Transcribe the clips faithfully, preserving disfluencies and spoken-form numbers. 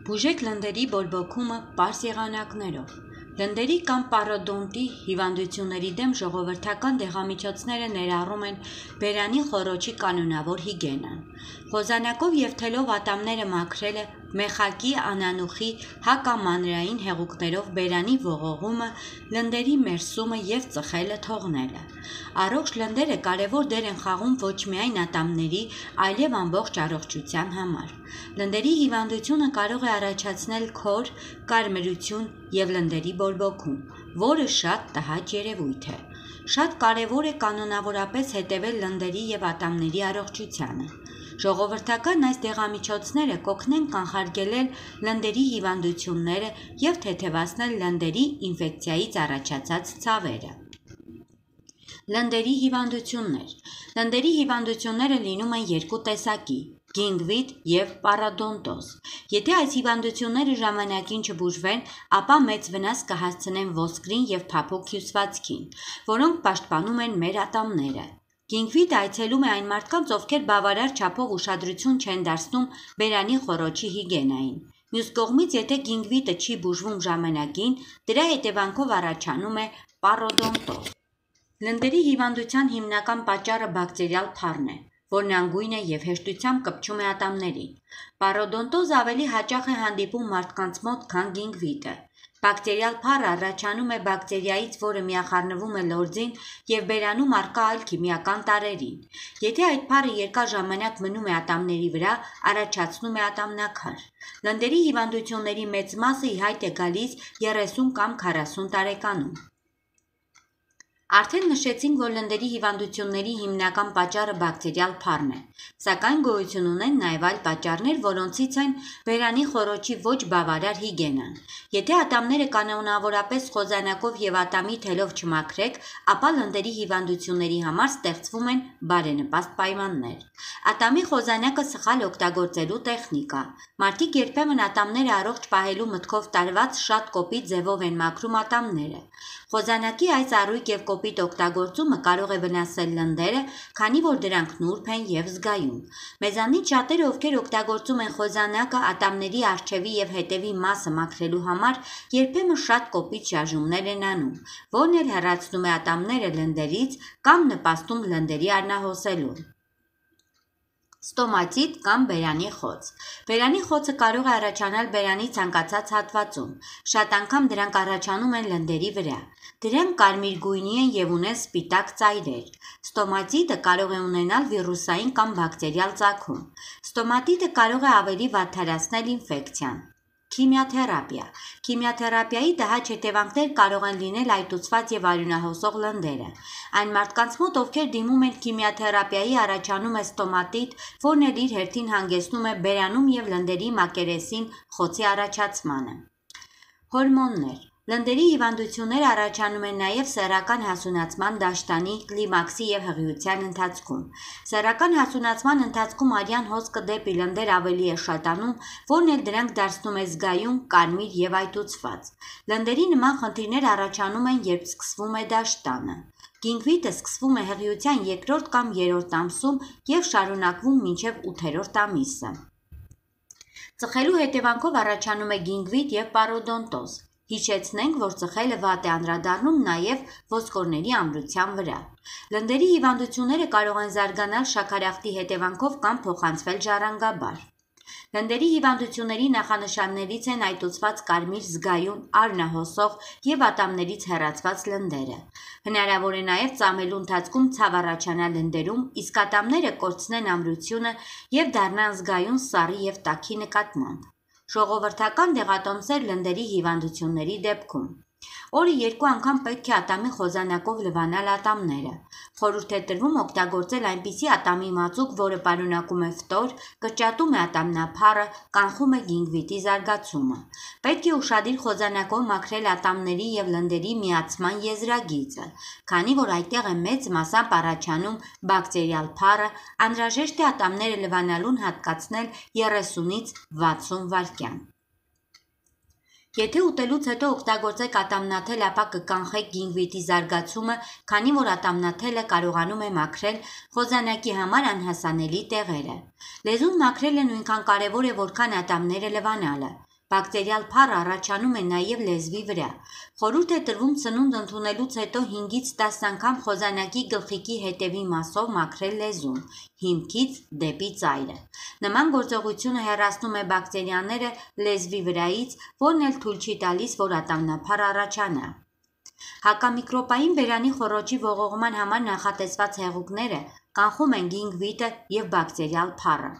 Բուժեք լնդերի բորբոքումը պարզ եղանակներով։ Լնդերի կամ պարոդոնտի հիվանդությունների դեմ ժողովրդական դեղամիջոցները ներառում են բերանի խոռոչի կանոնավոր հիգիենան, խոզանակով և թելով ատամները մաքրելը, մեխակի, անանուխի, հակամանրային հեղուկներով բերանի ողողումը, լնդերի մերսումը և ծխելը թողնելը։ Առողջ լնդերը կարևոր դեր են խաղում ոչ միայն ատամների, այլև ամբողջ առողջության համար։ Լնդերի հիվանդությունը կարող է առաջացնել քոր, կարմրություն և լնդերի բորբոքում, որը շատ տհաճ երևույթ է։ Շատ կարևոր է կանոնավորապես հետևել լնդերի և ատամների առողջությանը։ Ժողովրդական այս դեղամիջոցները կօգնեն կանխարգելել լնդերի հիվանդությունները և թեթևացնել լնդերի ինֆեկցիայից առաջացած ցավերը։ Լնդերի հիվանդություններ։ Լնդերի հիվանդությունները լինում են երկու տեսակի՝ գինգվիտ և պարոդոնտոզ։ Եթե այս հիվանդությունները ժամանակին չբուժվեն, ապա մեծ վնաս կհասցնեն ոսկրին և փափուկ հյուսվածքին, որոնք պաշտպանում են մեր ատամները։ Գինգվիտը այցելում է այն մարդկանց, ովքեր բավարար չափով ուշադրություն չեն դարձնում բերանի խոռոչի հիգիենային։ Մյուս կողմից, եթե գինգվիտը չի բուժվում ժամանակին, դրա հետևանքով առաջանում է պարոդոնտոզ։ Լնդերի հիվանդության հիմնական պատճառը բակտերիալ փառն է, որն անգույն է և հեշտությամբ կպչում է ատամներին։ Պարոդոնտոզը ավելի հաճախ է հանդիպում մարդկանց մոտ, քան գինգվիտը։ Բակտերիալ փառը առաջանում է բակտերիայից, որը միախառնվում է լորձին և բերանում առկա այլ քիմիական տարրերին։ Եթե այդ փառը երկար ժամանակ մնում է ատամների վրա, առաջացնում է ատամնաքար։ Լնդերի հիվանդությունների մեծ մասը ի հայտ է գալիս երեսուն կամ քառասուն տարեկանում։ Արդեն նշեցինք, որ լնդերի հիվանդությունների հիմնական պատճառը բակտերիալ փառն է, սակայն գոյություն ունեն նաև այլ պատճառներ, որոնցից են բերանի խոռոչի ոչ բավարար հիգիենան։ Եթե ատամները կանոնավորապես խոզանակով և ատամի թելով չմաքրեք, ապա լնդերի հիվանդությունների համար ստեղծվում են բարենպաստ պայմաններ։ Ատամի խոզանակը սխալ օգտագործելու տեխնիկա։ Մարդիկ երբեմն ատամները առողջ պահելու մտքով տարված շատ կոպիտ ձևով են մաքրում ատամները։ Խոզանակի այս առույգ և կոպիտ օգտագործումը կարող է վնասել լնդերը, քանի որ դրանք նուրբ են և զգայուն։ Մեզանից շատերը, ովքեր օգտագործում են խոզանակը ատամների առջևի և հետևի մասը մաքրելու համար, երբեմն շատ կոպիտ շարժումներ են անում, որն էլ հեռացնում է ատամները լնդերից կամ նպաստում լնդերի արնահոսելուն։ Ստոմատիտ կամ բերանի խոց։ Բերանի խոցը կարող է առաջանալ բերանի ցանկացած հատվածում։ Շատ անգամ դրանք առաջանում են լնդերի վրա։ Դրանք կարմիր գույնի են և ունեն սպիտակ ծայրեր։ Ստոմատիտը կարող է ունենալ վիրուսային կամ բակտերիալ ծագում։ Ստոմատիտը կարող է ավելի վատթարացնել ինֆեկցիան։ Քիմիաթերապիա։ Քիմիաթերապիայի տհաճ հետևանքներ կարող են լինել այտուցված և արյունահոսող լնդերը։ Այն մարդկանց մոտ, ովքեր դիմում են քիմիաթերապիայի, առաջանում է ստոմատիտ, որն էլ իր հերթին հանգեցնում է բերանում և լնդերի մակերեսին խոցի առաջացմանը։ Հորմոններ։ Լնդերի հիվանդությունները առաջանում են նաև սեռական հասունացման դաշտանի, կլիմաքսի և հղիության ընթացքում։ Սեռական հասունացման ընթացքում արյան հոսքը դեպի լնդեր ավելի է շատանում, որն էլ դրանք դարձնում է զգայուն, կարմիր և այտուցված։ Լնդերի նման խնդիրներ առաջանում են, երբ սկսվում է դաշտանը։ Գինգվիտը սկսվում է հղիության երկրորդ կամ երրորդ ամսում և շարունակվում մինչև ութերորդ ամիսը։ Ծխելու հետևանքով առաջանում է գինգվիտ և պարոդոնտոզ։ Հիշեցնենք, որ ծխելը վատ է անդրադառնում նաև ոսկորների ամրության վրա։ Լնդերի հիվանդությունները կարող են զարգանալ շաքարախտի հետևանքով կամ փոխանցվել ժառանգաբար։ Լնդերի հիվանդությունների նախանշաններից են այտուցված կարմիր, զգայուն, արյունահոսող և ատամներից հեռացված լնդերը։ Հնարավոր է նաև ծամելու ընթացքում ցավ առաջանա լնդերում, իսկ ատամները կորցնեն ամրությունը և դառնան զգայուն սառի և տաքի նկատմամբ։ Ժողովրդական դեղատոմսեր լնդերի հիվանդությունների դեպքում։ Օրը երկու անգամ պետք է ատամի խոզանակով լվանալ ատամները։ Խորհուրդ է տրվում օգտագործել այնպիսի ատամի մածուկ, որը պարունակում է ֆտոր, կրճատում է ատամնափառը, կանխում է գինգվիտի զարգացումը։ Պետք է ուշադիր խոզանակով մաքրել ատամների և լնդերի միացման եզրագիծը։ Քանի որ այդտեղ է մեծ մասամբ առաջանում բակտերիալ փառը, անհրաժեշտ է ատամները լվանալուն հատկացնել երեսունից վաթսուն վայրկյան։ Եթե ուտելուց հետո օգտագործեք ատամնաթել, ապա կկանխեք գինգվիտի զարգացումը, քանի որ ատամնաթելը կարողանում է մաքրել խոզանակի համար անհասանելի տեղերը։ Լեզուն մաքրելը նույնքան կարևոր է, որքան ատամները լվանալը։ Բակտերիալ փառը առաջանում է նաև լեզվի վրա։ Խորհուրդ է տրվում սնունդ ընդունելուց հետո հինգից տասը անգամ խոզանակի գլխիկի հետևի մասով մաքրել լեզուն, հիմքից դեպի ծայրը։ Նման գործողությունը հեռացնում է բակտերիաները լեզվի վրայից, որն էլ թույլ չի տալիս, որ ատամնափառ առաջանա։ Հակամիկրոբային բերանի խոռոչի ողողման համար նախատեսված հեղուկները կանխում են գինգվիտը և բակտերիալ փառը։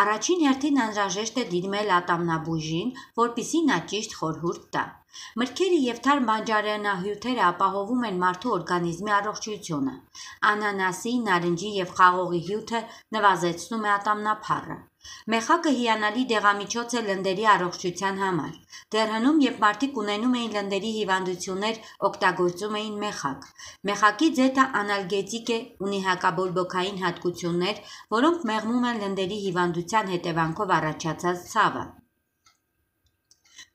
Առաջին հերթին անհրաժեշտ է դիմել ատամնաբույժին, որպեսզի նա ճիշտ խորհուրդ տա։ Մրգերը և թարմ բանջարեղենահյութերը ապահովում են մարդու օրգանիզմի առողջությունը։ Անանասի, նարնջի և խաղողի հյութը նվազեցնում է ատամնափառը։ Մեխակը հիանալի դեղամիջոց է լնդերի առողջության համար։ Դեռ հնում, երբ մարդիկ ունենում էին լնդերի հիվանդություններ, օգտագործում էին մեխակ։ Մեխակի ձեթը անալգետիկ է, ունի հակաբորբոքային հատկություններ, որոնք մեղմում են լնդերի հիվանդության հետևանքով առաջացած ցավը։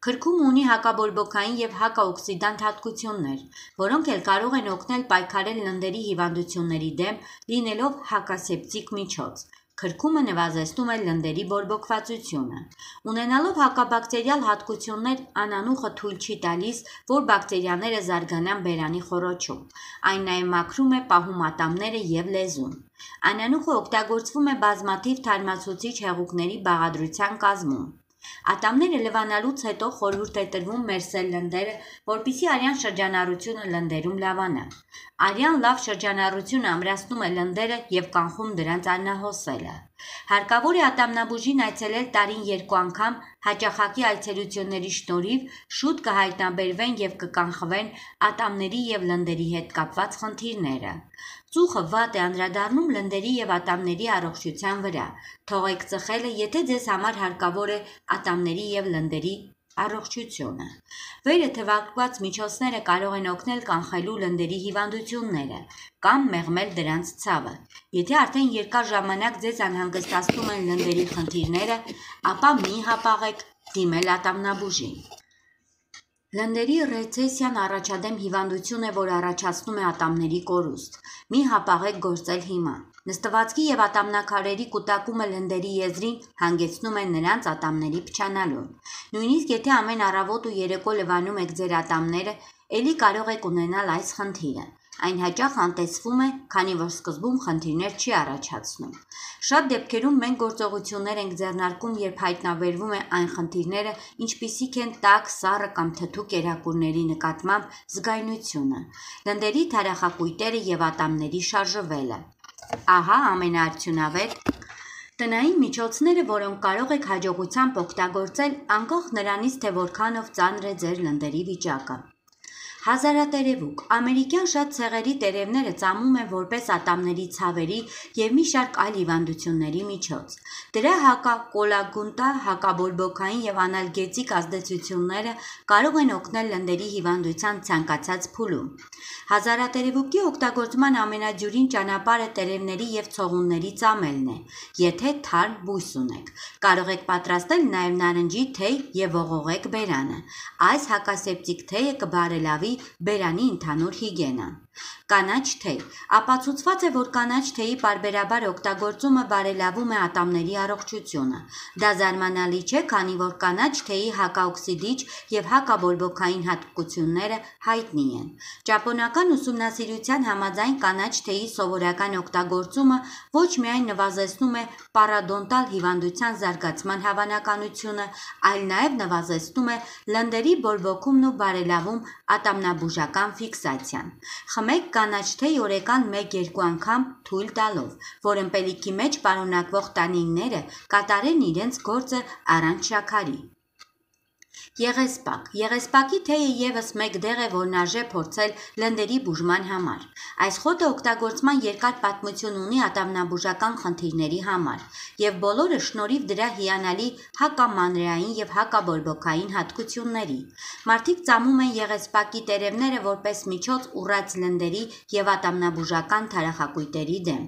Քրքումը ունի հակաբորբոքային և հակաօքսիդանտ հատկություններ, որոնք էլ կարող են օգնել պայքարել լնդերի հիվանդությունների դեմ, լինելով հակասեպտիկ միջոց։ Քրքումը նվազեցնում է լնդերի բորբոքվածությունը։ Ունենալով հակաբակտերիալ հատկություններ, անանուխը թույլ չի տալիս, որ բակտերիաները զարգանան բերանի խոռոչում։ Այն նաև մաքրում է, պահում ատամները և լեզուն։ Անանուխը օգտագործվում է բազմաթիվ թարմացուցիչ հեղուկների բաղադրության կազմում։ Ատամները լվանալուց հետո խորհուրդ է տրվում մերսել լնդերը, որպեսզի արյան շրջանառությունը լնդերում լավանա։ Արյան լավ շրջանառությունը ամրացնում է լնդերը և կանխում դրանց անհոսելը։ Հարկավոր է ատամնաբուժին այցելել տարին երկու անգամ, հաճախակի այցելությունների շնորհիվ շուտ կհայտնաբերվեն և կկանխվեն ատամների և լնդերի հետ կապված խնդիրները։ Ծուխը վատ է անդրադառնում լնդերի և ատամների առողջության վրա։ Թողեք ծխելը, եթե ձեզ համար հարկավոր է ատամների և լնդերի առողջությունը։ Վերը թվարկված միջոցները կարող են օգնել կանխելու լնդերի հիվանդությունները կամ մեղմել դրանց ցավը։ Եթե արդեն երկար ժամանակ ձեզ անհանգստացնում են լնդերի խնդիրները, ապա մի հապաղեք դիմել ատամնաբուժին։ Լնդերի ռեցեսիան առաջադեմ հիվանդություն է, որ առաջացնում է ատամների կորուստ։ Մի հապաղեք գործել հիմա։ Նստվածքի և ատամնաքարերի կուտակումը լնդերի եզրին հանգեցնում է նրանց ատամների փչանալուն։ Նույնիսկ եթե ամեն առավոտ ու երեկո լվանում եք ձեր ատամները, էլի կարող եք ունենալ այս խնդիրը։ Այն հաճախ անտեսվում է, քանի որ սկզբում խնդիրներ չի առաջացնում։ Շատ դեպքերում մենք գործողություններ ենք ձեռնարկում, երբ հայտնաբերվում է այն խնդիրները, ինչպիսիք են տաք, սառը կամ թթու կերակուրների նկատմամբ զգայունությունը, լնդերի թարախակույտերը և ատամների շարժվելը։ Ահա ամենաարդյունավետ տնային միջոցները, որոնք կարող եք հաջողությամբ օգտագործել, անկախ նրանից, թե որքանով ծանր է ձեր լնդերի վիճակը։ Հազարատերևուկ ամերիկյան շատ ցեղերի տերևները ծամում են որպես ատամների ցավերի և մի շարք այլ հիվանդությունների միջոց։ Դրա հակակոլագունտա, հակաբորբոքային և անալգետիկ ազդեցությունները կարող են օգնել լնդերի հիվանդության ցանկացած փուլում։ Հազարատերևուկի օգտագործման ամենադյուրին ճանապարհը տերևների և ցողունների ծամելն է, եթե թարմ բույս ունեք։ Կարող եք պատրաստել նաև նարնջի թեյ և ողողեք բերանը։ Այս հակասեպտիկ թեյը կբարելավի բերանի ընդհանուր հիգիենան։ Կանաչ թեյ։ Ապացուցված է, որ կանաչ թեյի պարբերաբար օգտագործումը բարելավում է ատամների առողջությունը։ Դա զարմանալի չէ, քանի որ կանաչ թեյի հակաօքսիդիչ և հակաբորբոքային հատկությունները հայտնի են։ Ճապոնական ուսումնասիրության համաձայն կանաչ թեյի սովորական օգտագործումը ոչ միայն նվազեցնում է պարոդոնտալ հիվանդության զարգացման հավանականությունը, այլ նաև նվազեցնում է լնդերի բորբոքումն ու բարելավում ատամնաբուժական ֆիքսացիան։ Խմեք կանաչ թեյ օրեկան մեկ-երկու անգամ թույլ տալով, որ ըմպելիքի մեջ պարունակվող տանինները կատարեն իրենց գործը առանց շաքարի։ Եղեսպակ։ Եղեսպակի թեյը ևս մեկ դեղ է, որն արժե փորձել լնդերի բուժման համար։ Այս խոտը օգտագործման երկար պատմություն ունի ատամնաբուժական խնդիրների համար, և բոլորը շնորհիվ դրա հիանալի հակամանրեային և հակաբորբոքային հատկությունների։ Մարդիկ ծամում են եղեսպակի տերևները որպես միջոց ուռած լնդերի և ատամնաբուժական թարախակույտերի դեմ։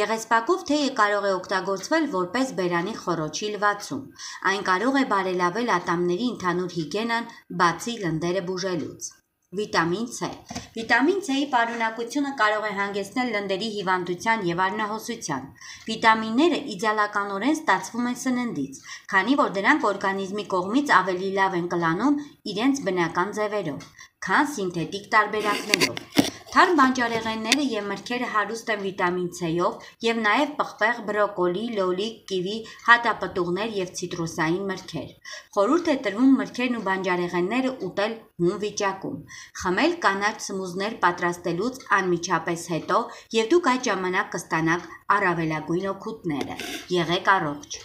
Եղեսպակով թեյը կարող է օգտագործվել որպես բերանի խոռոչի լվացում։ Այն կարող է բարելավել ատամների ընդհանուր հիգիենան, բացի լնդերը բուժելուց։ Վիտամին C։ Վիտամին C-ի պարունակությունը կարող է հանգեցնել լնդերի հիվանդության և արնահոսության։ Վիտամինները իդեալականորեն ստացվում են սննդից, քանի որ դրանք օրգանիզմի կողմից ավելի լավ են կլանում իրենց բնական ձևերով, քան սինթետիկ տարբերակներով։ Թարմ բանջարեղենները և մրգերը հարուստ են վիտամին C-ով և նաև պղպեղ, բրոկոլի, լոլիկ, կիվի, հատապտուղներ և ցիտրուսային մրգեր։ Խորհուրդ է տրվում մրգերն ու բանջարեղենները ուտել հում վիճակում։ Խմել կանաչ սմուզներ պատրաստելուց անմիջապես հետո, և դուք այդ ժամանակ կստանաք առավելագույն օգուտները։ Եղեք առողջ։